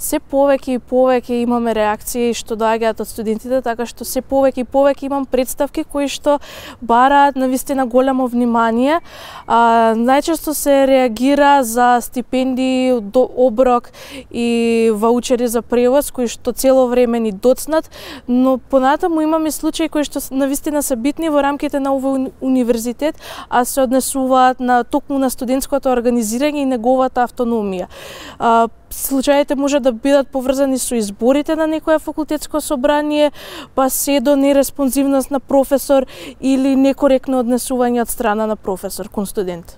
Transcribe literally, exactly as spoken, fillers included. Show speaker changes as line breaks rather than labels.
се повеќе и повеќе имаме реакции што доаѓаат од студентите, така што се повеќе и повеќе имам представки кои што бараат навистина големо внимание. А, најчесто се реагира за стипендии, до оброк и ваучери за превоз кои што цело време ни доцнат, но понатаму имаме случаи кои што навистина се битни во рамките на овој универзитет, а се однесуваат на токму на студентското организирање и неговата автономија. А, случаите може да бидат поврзани со изборите на некое факултетско собрание, па се до нереспонзивност на професор или некоректно однесување од страна на професор кон студент.